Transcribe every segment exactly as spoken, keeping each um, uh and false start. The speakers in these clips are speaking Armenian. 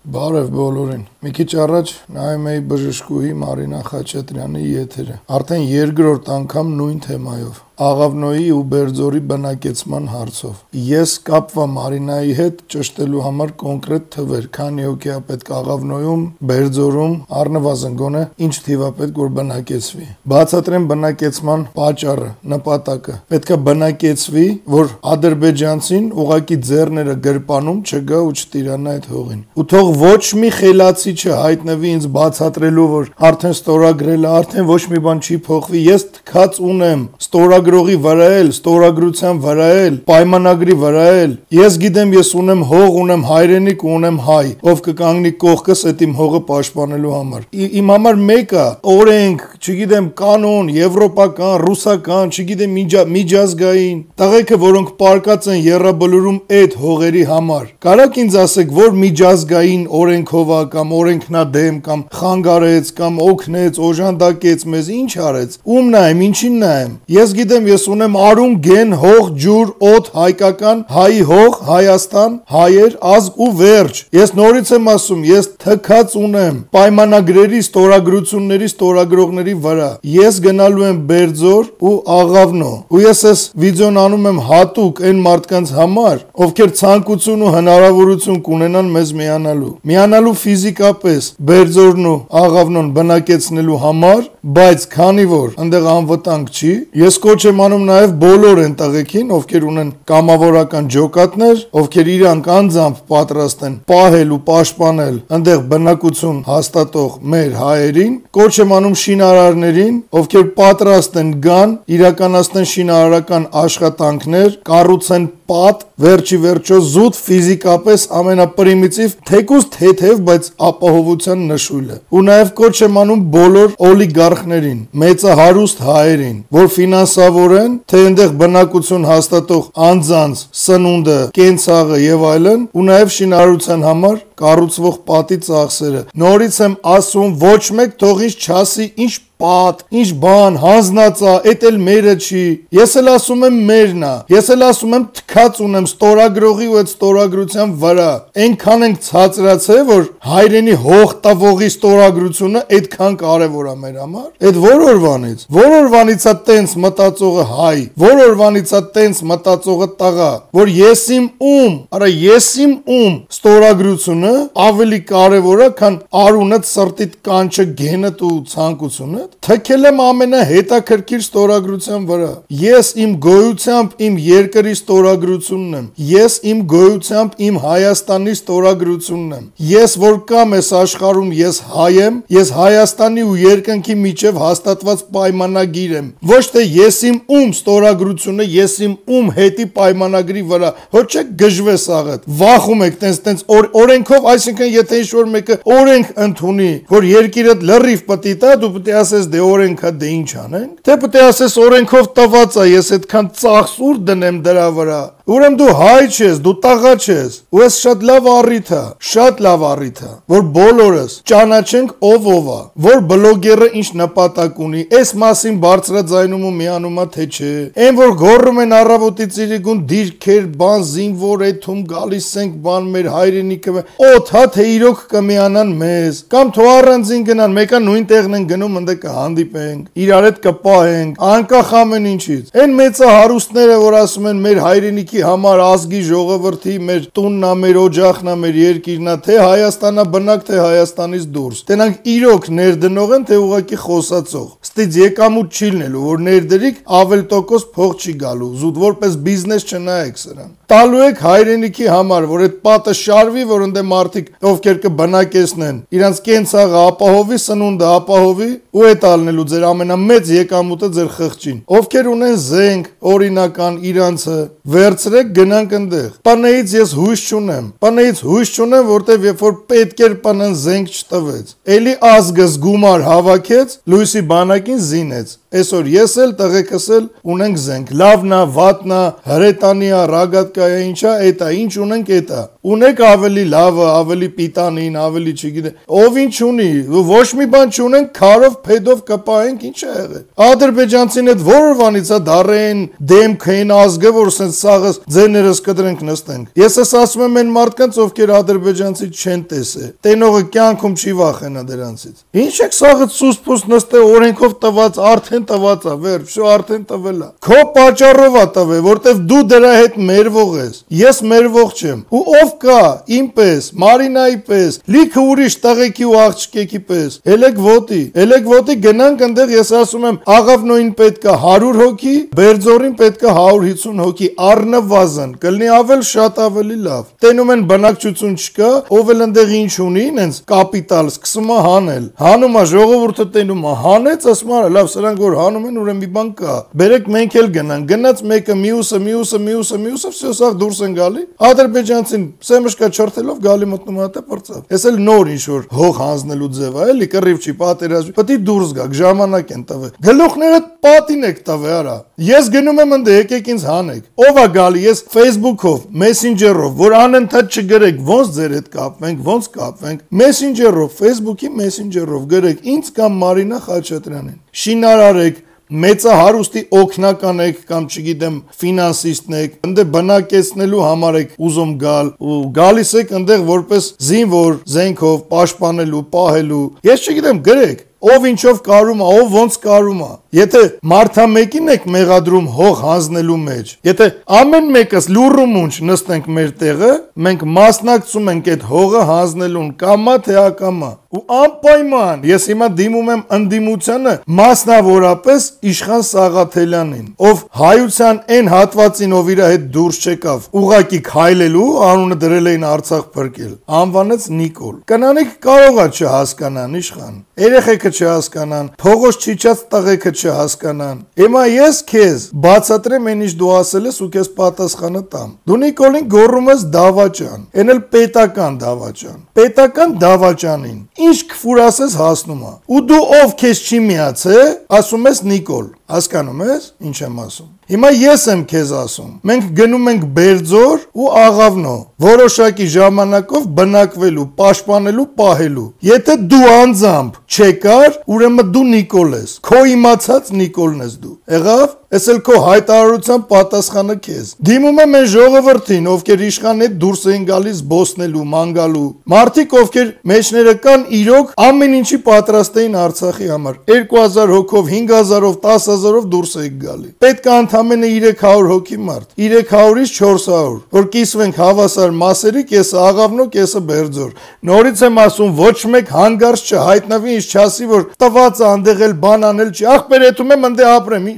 Բարև բոլորին։ Մի քիչ առաջ նայում էի բժշկուհի Մարինա Խաչատրյանի եթերը։ Արդեն երկրորդ անգամ նույն թեմայով։ Աղավնոյի ու Բերձորի բնակեցման հարցով։ Ես կապվա Մարինայի հետ ճշտելու համար կոնկրետ թվեր, քանի հոգի է պետք Աղավնոյում, Բերձորում, առնվազն գոնե ինչ թիվ է պետք որ բնակեցվի։ Բացատրեմ բնակեցման պատճառը, նպատակը։ Պետք է բնակեցվի, որ ադրբեջանցին ուղակի ձեռները գրպանում չգա ու չտիրանա այդ հողին։ Ու թող ոչ մի խելացի չհայտնվի ինձ բացատրելու, որ արդեն ստորագրել է, արդեն ոչ մի բան չի փոխվի։ Ես թքած ունեմ ստորագրողի վրա էլ, ստորագրության վրա էլ, պայմանագրի վրա էլ։ Ես գիտեմ, ես ունեմ հող, ունեմ հայրենիք ու ունեմ հայ, ով կկանգնի կողքս այդ իմ հողը պաշտպանելու համար։ Իմ համար մեկ է օրենք, չգիտեմ, կանոն, եվրոպական, ռուսական, չգիտեմ, միջազգային, տղեկը, որոնք պարկած են եռաբլուրում այդ հողերի համար։ Կարաք ինձ ասեք, որ միջազգային օրենքով է կամ օրենքնադեմ կամ խանգարեց կամ օգնեց, օժանդակեց մեզ, ինչ արեց։ Ում նայեմ, ինչին նայեմ։ Ես գիտեմ, ես ունեմ արուն, գեն, հող, ջուր, օդ, հայկական, հայի հող, Հայաստան, հայեր, ազգ ու վերջ։ Ես նորից եմ ասում, ես թքած ունեմ պայմանագրերի, ստորագրությունների, ստորագրողների վրա։ Ես գնալու եմ Բերձոր ու Աղավնո։ Ու ես այս վիդեոն անում եմ հատուկ այն մարդկանց համար, ովքեր ցանկություն ու հնարավորություն կունենան մեզ միանալու։ Միանալու ֆիզիկապես Բերձորն ու Աղավնոն բնակեցնելու համար, բայց քանի որ այնտեղ անվտանգ չի, ես կոչ եմ անում նաև բոլոր այն տղեկին, ովքեր ունեն կամավորական ջոկատներ, ովքեր իրանք անձամբ պատրաստ են պահել ու պաշտպանել այնտեղ բնակություն հաստատող մեր հայերին, կոչ եմ անում շինարարներին, ովքեր պատրաստ են գան, իրականացնեն շինարարական աշխատանքներ, կառուցեն պատ, վերջի վերջո զուտ ֆիզիկապես ամենապրիմիտիվ, թեկուզ թեթև, բայց ապահովության նշույլը։ Ու նաև կոչ եմ անում բոլոր օլիգարխներին, մեծահարուստ հայերին, որ ֆինանսավորեն, թե այնտեղ բնակություն հաստատող անձանց սնունդը, կենցաղը եւ այլն, ու նաև շինարարության համար կառուցվող պատի ծախսերը։ Նորից եմ ասում, ոչ մեկ թող ինձ չասի ինչ պատ, ինչ բան, հանձնածա, էդ էլ մերը չի։ Ես էլ ասում եմ մերն է։ Ես էլ ասում եմ թքած ունեմ ստորագրողի ու այդ ստորագրության վրա։ Այնքան ենք ցածրացել, որ հայրենի հող տվողի ստորագրությունը այդքան կարևոր է մեր համար։ Այդ որ օրվանից, որ օրվանից է տենց մտածողը հայ, որ օրվանից է տենց մտածողը տղա, որ ես իմ ում, արա ես իմ ում ստորագրությունը ավելի կարևոր է, քան արունդ, սրտիդ, կանչը, գենդ ու ցանկությունը։ Թքել եմ ամենահետաքրքիր ստորագրության վրա։ Ես իմ գոյությամբ իմ երկրի ստորագրությունն եմ։ Ես իմ գոյությամբ իմ Հայաստանի ստորագրությունն եմ։ Ես որ կամ ես աշխարհում ես հայ եմ, ես Հայաստանի ու երկնքի միջև հաստատված պայմանագիր եմ։ Ոչ թե ես իմ ում ստորագրությունը, ես իմ ում հետի պայմանագրի վրա։ Հո չէ գժվես աղդ։ Վախում եք տենց տենց օրենքով, այսինքն եթե ինչ-որ մեկը օրենք ընդունի, որ երկիրդ լրիվ պտի տա, դու պետք է ասես դե օրենքա դե ինչ անենք, թե պետք է ասես օրենքով տված է, ես այդքան ծախս ուր դնեմ դրա վրա։ Ուրեմն դու հայ չես, դու տղա չես, ու ես շատ լավ առիթ է, շատ լավ առիթ է, որ բոլորս ճանաչենք ով ով է, որ բլոգերը ինչ նպատակ ունի, այս մասին բարձրաձայնում ու միանում է թե չէ։ Այն որ գոռում են առավոտից իրիկուն դիրքեր, բան, զինվոր էթում գալիս ենք, բան մեր հայրենիքը, օթա թե իրոք կմիանան մեզ, կամ թող առանձին գնան, մեկը նույն տեղն են գնում, ընդ կհանդիպենք, իրար հետ կպահենք, անկախ ամեն ինչից։ Այն մեծահարուստները, որ ասում են մեր հայրենիքի համար ազգի ժողովրդի մեր տունն է, մեր օջախն է, մեր երկիրն է, թե Հայաստանա բնակ, թե Հայաստանից դուրս։ Տենանք իրոք ներդնող են, թե ուղղակի խոսացող։ Ստից եկամուտ չի լինելու, որ ներդրիկ ավել տոկոս փող չի գալու, զուտ որպես բիզնես չնայեք սրան։ Տալու եք հայրենիքի համար, որ այդ պատը շարվի, որ ընդ մարդիկ ովքեր կբնակեցնեն, իրանց կենցաղը ապահովի, սնունդը ապահովի, ու է տալնելու ձեր ամենամեծ եկամուտը ձեր խղճին։ Ովքեր ունեն զենք, օրինական իրանցը, վերցրեք գնանք ընդեղ։ Պանեից ես հույս չունեմ։ Պանեից հույս չունեմ, որտեվ երբ որ պետք էր պանեն զենք չտվեց։ Էլի ազգը զգումար հավաքեց, լույսի բանակին զինեց։ Այսօր ես էլ տղեկս էլ ունենք զենք, լավնա, վատնա, հրետանիա, ռագատկայա, ինչա, էտա, ինչ ունենք էտա։ Ունեք ավելի լավը, ավելի պիտանին, ավելի չգիտեմ։ Ով ինչ ունի, ոչ մի բան չունենք, քարով, փեդով կպահենք, ինչ է եղել։ Ադրբեջանցին այդ որովանից է դարեն դեմքային ազգը, որ սենց սաղս ձերներս կդրենք նստենք։ Ես ես ասում եմ այն մարդկանց, ովքեր ադրբեջանցի չեն տեսել։ Տենողը կյանքում չի վախենա դրանցից։ Ինչ եք սաղը սուսպուս նստե օրենքով տված, արդեն տված է, վերջ, շո արդեն տվել է։ Քո պատճառով է տվել, որտեվ դու դրա հետ մերվող ես։ Ես մերվող չեմ։ Ու ով կա իմ պես, Մարինայի պես, լիքը ուրիշ տղեկի ու աղջկեկի պես։ Ելեք ոտի, ելեք ոտի գնանք այնտեղ, ես ասում եմ, Աղավնոյին պետք է հարյուր հոգի, Բերձորին պետք է հարյուր հիսուն հոգի, առնվազն, կլինի ավել շատ ավելի լավ։ Տենում են բնակչություն չկա, ով էլ այնտեղ ինչ ունի, ինձ կապիտալ սկսում է հանել։ Հանում է ժողովուրդը տենում է, հանեց, ասում է, լավ, սրանք որ հանում են, ուրեմն մի բան կա։ Բերեք մենք էլ գնանք, գնաց մեկը, մյուսը, մյուսը, մյուսը, մյուսը, всё սա դուրս են գալի։ Ադրբեջանցին սեմշկա չորթելով գալի մտնում է տե պրծավ։ Էս էլ նոր ինչ որ հող հանձնելու ձև է, էլի կռիվ չի, պատերազմ։ Պետք է դուրս գաք, ժամանակ են տվել։ Գլուխները պատին եք տվել, արա։ Ես գնում եմ ընդ եկեք ինձ հանեք։ Ով է գալի, ես Facebook-ով, Messenger-ով, որ անընդհատ չգրեք, ոնց ձեր հետ կապվենք, ոնց կապվենք, Messenger-ով, Facebook-ի Messenger-ով գրեք ինձ կամ Մարինա Խաչատրյանին։ Շինարարեք, մեծահարուստի օգնական եք կամ չգիտեմ ֆինանսիստն եք, ընդե բնակեցնելու համար եք ուզում գալ ու գալիս եք ընդեղ որպես զինվոր, զենքով պաշտպանելու, պահելու։ Ես չգիտեմ, գրեք ով ինչով կարում է, ով ոնց կարում է։ Եթե մարդա մեկին եք մեղադրում հող հանձնելու մեջ, եթե ամեն մեկս լուրը մունջ նստենք մեր տեղը, մենք մասնակցում ենք այդ հողը հանձնելուն կամա թե ակամա։ Ու անպայման ես հիմա դիմում եմ ընդդիմությանը մասնավորապես Իշխան Սաղաթելյանին, ով հայության այն հատվածին ով իր հետ դուրս չեկավ, ուղակի քայլելու անունը դրել էին Արցախ փրկել, անվանեց Նիկոլ։ Կանանիկ կարող է չհասկանան Իշխան, երեխեքը չհասկանան, փողոց չիջած տղեկը չհասկանան։ Հիմա ես քեզ բացատրեմ այն ինչ դու ասել ես ու քեզ պատասխանը տամ։ Դու Նիկոլին գոռում ես դավաճան, այն էլ պետական դավաճան։ Պետական դավաճանին ինչ քֆուր ասես հասնում է։ Ու դու ով քեզ չի միացե, ասում ես Նիկոլ, հասկանում ես ինչ եմ ասում։ Հիմա ես եմ քեզ ասում։ Մենք գնում ենք Բերձոր ու Աղավնո, որոշակի ժամանակով բնակվելու, պաշտպանելու, պահելու։ Եթե դու անձամբ չեկար, ուրեմն դու Նիկոլ ես։ Քո իմացած Նիկոլն ես դու։ Եղավ։ Էս էլ քո հայտարարության պատասխանը քեզ։ Դիմում եմ այն ժողովրդին, ովքեր իշխան հետ դուրս էին գալիս բոսնելու, մանգալու։ Մարդիկ, ովքեր մեջները կան, իրոք ամեն ինչի պատրաստ էին Արցախի համար։ երկու հազար հոգով, հինգ հազարով, տասը հազարով դուրս եք գալի։ Պետք է ընդամենը երեք հարյուր հոգի մարդ, երեք հարյուրից չորս հարյուր, որ կիսվենք հավասար մասերի, կեսը Աղավնո, կեսը Բերձոր։ Նորից եմ ասում, ոչ մեկ հանգարց չհայտնվի, ինչ չասի, որ տված է անդեղ էլ բան անել չի։ Ախպեր եթում եմ անդե ապրեմ։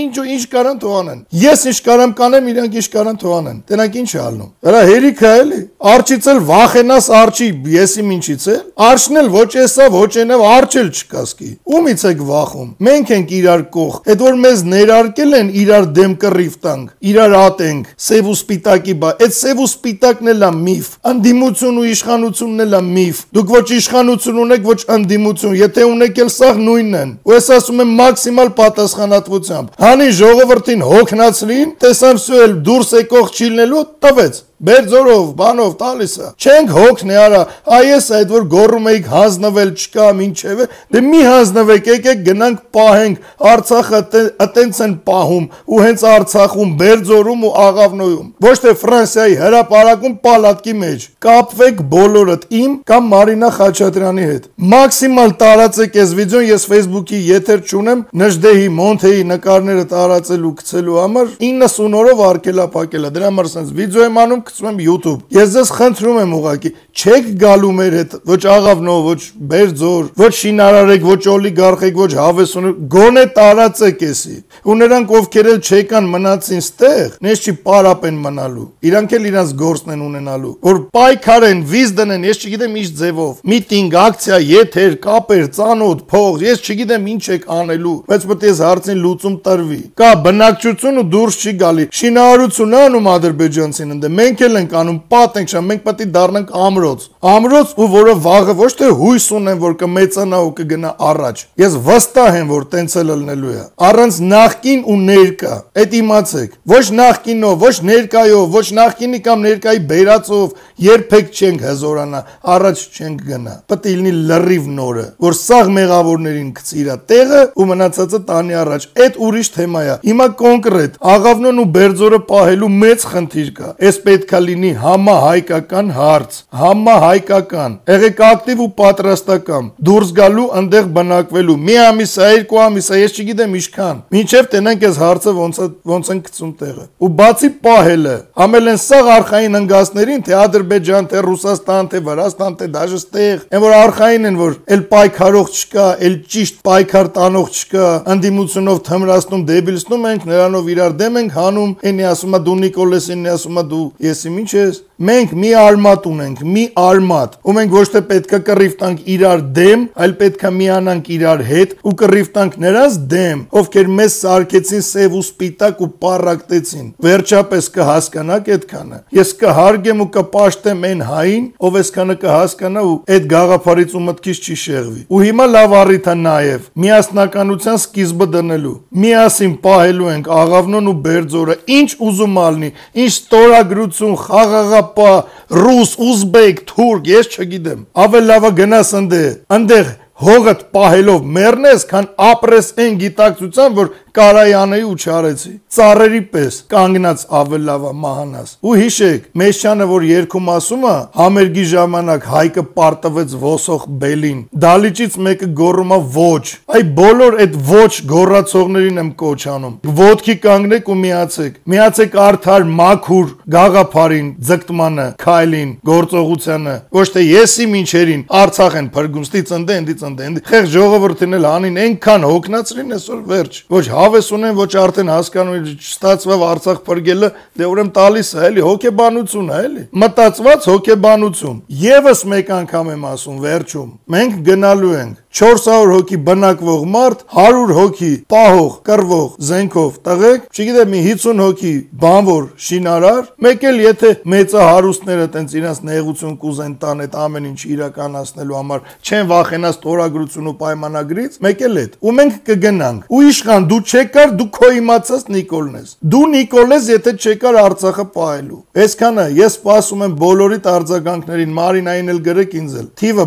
Ինչ ու ինչ կարան թողանեն։ Ես ինչ կարամ կանեմ, իրանք ինչ կարան թողանեն։ Տենանք ինչ է ալնում։ Հələ հերիքը էլի։ Արջից էլ վախենաս արջի, եսի ինչից է։ Արջն էլ ոչ էսա, ոչ այնա, արջ էլ չկասկի։ Ումից եք վախում։ Մենք ենք իրար կող։ Այդ որ մեզ ներարկել են իրար դեմ կռիվ տանք, իրար ատենք, սև ու սպիտակի բա։ Այդ սև ու սպիտակն էլ է միֆ։ Անդիմություն ու իշխանությունն էլ է միֆ։ Դուք ոչ իշխանություն ունեք, ոչ անդիմություն։ Եթե ունեք էլ սաղ նույնն են։ Ու ես ասում եմ մաքսիմալ պատասխանատվությամբ։ Հանի ժողովրդին հոգնածրին, տեսան սու էլ դուրս եկող չիլնելու, տվեց։ Բերձորով, բանով տալիս է։ Չենք հոգնի արա, այս այդ որ գոռում էիք հանձնվել չկա, ինչև է, դե մի հանձնվեք, եկեք գնանք պահենք, Արցախը այտենց են պահում, ու հենց Արցախում, Բերձորում ու Աղավնոյում, ոչ թե Ֆրանսիայի հրապարակում պալատկի մեջ։ Կապվեք բոլորդ իմ կամ Մարինա Խաչատրյանի հետ։ Մաքսիմալ տարածեք այս վիդեոն, ես Facebook-ի եթեր չունեմ, Նժդեհի, Մոնթեի նկարները տարածելու, գցելու համար իննսուն օրով արկելափակելա։ Դրա համար sense վիդեո եմ անում գցում եմ YouTube։ Ես ձեզ խնդրում եմ ուղղակի, չեք գալու մեր հետ, ոչ Աղավնո, ոչ Բերձոր, ոչ շինարարեք, ոչ օլիգարխեք, ոչ հավեսունեք, գոնե տարածեք էսի։ Ու նրանք ովքեր էլ չեկան մնացին ստեղ, նես չի պարապ են մնալու։ Իրանք էլ իրանց գործն են ունենալու, որ պայքարեն, վիզ դնեն, ես չգիտեմ ինչ ձևով։ Միտինգ, ակցիա, եթեր, կապեր, ծանոթ, փող, ես չգիտեմ ինչ եք անելու, բայց պետք է հարցին լուծում տրվի։ Կա բնակչություն ու դուրս չի գալի։ Շինարարություն անում ադրբեջանցին ընդ մենք մենք էլ ենք անում, պատ ենք շամ, մենք պետք է դառնանք ամրոց։ Ամրոց, ու որը վաղը ոչ թե հույս ունեն, որ կմեծանա ու կգնա առաջ։ Ես վստահ եմ, որ տենց էլ լինելու է։ Առանց նախկին ու ներկա, այդ իմացեք։ Ոչ նախկինով, ոչ ներկայով, ոչ նախկինի կամ ներկայի բերածով երբեք չենք հզորանա, առաջ չենք գնա։ Պետք է լինի լրիվ նորը, որ սաղ մեղավորներին գցի իր տեղը ու մնացածը տանի առաջ։ Այդ ուրիշ թեմա է։ Հիմա կոնկրետ Աղավնոն ու Բերձորը պահելու մեծ խնդիր կա։ Այս պետքա լինի համահայկական հարց, համահայկական, եղեք ակտիվ ու պատրաստական, դուրս գալու, այնտեղ բնակվելու։ Մի ամիս, երկու ամիս, ես չգիտեմ ինչքան։ Մինչև տենանք այս հարցը ոնց ոնց են գցում տեղը։ Ու բացի պահելը, ամեն են սաղ արխային ընկածներին, թե Ադրբեջան, թե Ռուսաստան, թե Վրաստան, թե դաժե ստեղ, այն որ արխային են, որ էլ պայքարող չկա, էլ ճիշտ պայքար տանող չկա, ընդդիմությունով թմրացնում, դեբիլացնում ենք, նրանով իրար դեմ ենք հանում, այնի ասում է դու Նիկոլես, այնի ասում է դու եսի ինչ ես։ Մենք մի արմատ ունենք, մի արմատ, ու մենք ոչ թե պետքա կռիվ տանք իրար դեմ, այլ պետքա միանանք իրար հետ ու կռիվ տանք նրանց դեմ, ովքեր մեզ սարքեցին սև ու սպիտակ ու պարակտեցին։ Վերջապես կհասկանաք այդքանը։ Ես կհարգեմ ու կպաշտեմ այն հային, ով այսքանը կհասկանա ու այդ գաղափարից ու մտքից չի շեղվի։ Ու հիմա լավ առիթ է նաև միասնականության սկիզբը դնելու։ Միասին պահելու ենք Աղավնոն ու Բերձորը, ինչ ուզում ալնի, ինչ ստորագրություն, խաղաղապահ, ռուս, ուզբեկ, թուրք, ես չգիտեմ։ Ավել լավը գնաս ընդեղ, ընդեղ հողդ պահելով մեռնես, քան ապրես այն գիտակցության, որ կարայանեի ու չարեցի։ Ծառերի պես կանգնած ավել լավա մահանաս։ Ու հիշեք, Մեշչյանը, որ երգում ասում է, համերգի ժամանակ Հայկը պարտվեց ոսող բելին, դալիճից մեկը գոռում է ոչ։ Այ բոլոր այդ ոչ գոռացողներին եմ կոչ անում։ Ոտքի կանգնեք ու միացեք։ Միացեք արդար մաքուր գաղափարին, ձգտմանը, քայլին, գործողությանը։ Ոչ թե եսի մինչերին Արցախ են փրկում, ստի ծնդե, ընդի ծնդե։ Խեղ ժողովրդին էլ հանին այնքան հոգնածրին այսօր վերջ։ Ոչ հավես ունեն, ոչ արդեն հասկանում չստացվավ Արցախ փրկելը, դե ուրեմն տալիս է, էլի հոգեբանություն է, էլի։ Մտածված հոգեբանություն։ Եվս մեկ անգամ եմ ասում, վերջում։ Մենք գնալու ենք չորս հարյուր հոգի բնակվող մարդ, հարյուր հոգի պահող, կռվող, զենքով տղեկ, չգիտեմ, մի հիսուն հոգի բանվոր, շինարար, մեկ էլ եթե մեծահարուստները տենց իրենց նեղություն կուզեն տան այդ ամեն ինչ իրականացնելու համար, չեն վախենա ստորագրություն ու պայմանագրից, մեկ էլ այդ։ Ու մենք կգնանք։ Ու իշխան դու չեկար, դու քո իմացած Նիկոլն ես։ Դու Նիկոլ ես, եթե չեկար Արցախը պահելու։ Այսքանը ես սպասում եմ բոլորիդ արձագանքներին, Մարինային էլ գրեք ինձ էլ։ Թիվը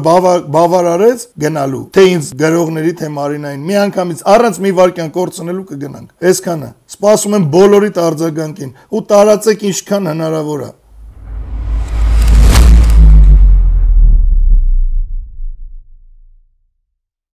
բավարարեց գնալու։ Թե ինձ գրողների, թե Մարինային, մի անգամից առանց մի վարքյան կորցնելու կգնանք։ Այսքանը։ Սպասում եմ բոլորիդ արձագանքին ու տարածեք ինչքան հնարավոր է։